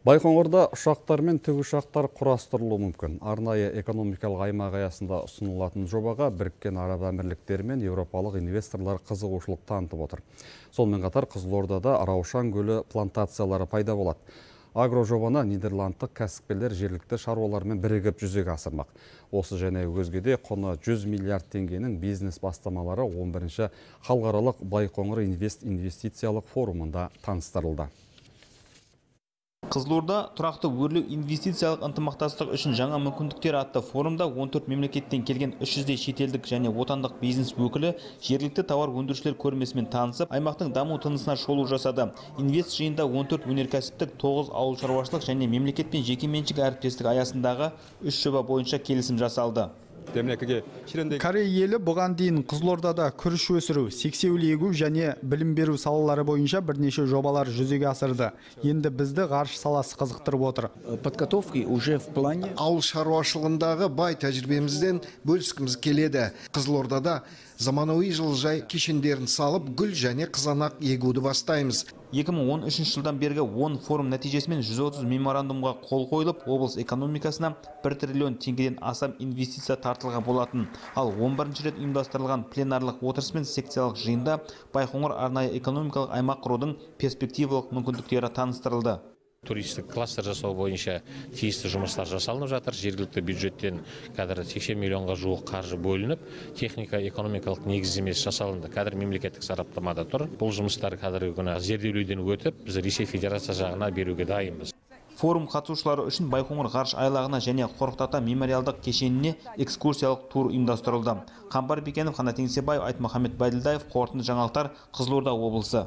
Байқоңырда ұшақтар мен тікұшақтар құрастырылуы мүмкін. Арнайы экономикалық аймақ аясында ұсынылатын жобаға Біріккен Араб Әмірліктері мен еуропалық инвесторлар қызығушылық танытып отыр. Сонымен қатар Қызылордада Раушан көлі плантациялары пайда болады. Агро жобаны нидерландтық кәсіпкерлер жергілікті шаруалармен бірігіп жүзеге асырмақ. Осы және өзгеде құны 100 миллиард теңгенің бизнес бастамалары 11-ші халықаралық Байқоңыр инвестициялық форумында таныстырылды. Қызылорда тұрақты өрлеу инвестициялық ынтымақтастық үшін жаңа мүмкіндіктер атты форумда 14 мемлекеттен келген 300-дей шетелдік және отандық бизнес өкілі жергілікті тауар өндірушілер көрмесімен танысып, аймақтың даму тынысына шолу жасады. Инвест жиында 14 өнеркәсіптік, 9 ауыл шаруашылық және мемлекет пен жекеменшік әріптестік аясындағы 3 жоба бойынша келісім жасалды. Корей елі бұған дейін Қызылордада күріш өсіру, сексеуіл егу және білім беру салалары бойынша бірнеше жобалар жүзеге асырды. Енді бізді ғарыш саласы қызықтырып отыр. Ауыл шаруашылығындағы бай тәжірибемізден бөліскіміз келеді. Қызылордада заманауи жылыжай кешендерін салып, гүл және қызанақ егуді бастаймыз. 2013 жылдан бергі 10 форум нәтижесімен 130 меморандумға қол қойылып, облыс экономикасына 1 триллион теңгеден астам инвестиция тартылған болатын. Ал 11-ші рет ұйымдастырылған пленарлық отырыс пен секциялық жиында Байқоңыр арнайы экономикалық аймақ құрудың перспективалық мүмкіндіктері таныстырылды. Туристік кластер жасау бойынша тиісті жұмыстар жасалынып жатыр. Жергілікті бюджеттен қазір 80 миллионға жуық қаржы бөлініп, техника экономикалық негіздемесі жасалынды. Қазір мемлекеттік сараптамада тұр. Бұл жұмыстар қазіргі күні зерделеуден өтіп, біз Ресей Федерация жағына беруге дайынбыз. Форум қатысушылары үшін Байқоңыр ғарыш айлағына және Қорқыт Ата мемориалдық кешеніне экскурсиялық тур ұйымдастырылды. Қамбар Бекенов, Қанат Еңсебаев, Айтмұхамед Байділдаев, қорытынды жаңалықтар, Қызылорда облысы.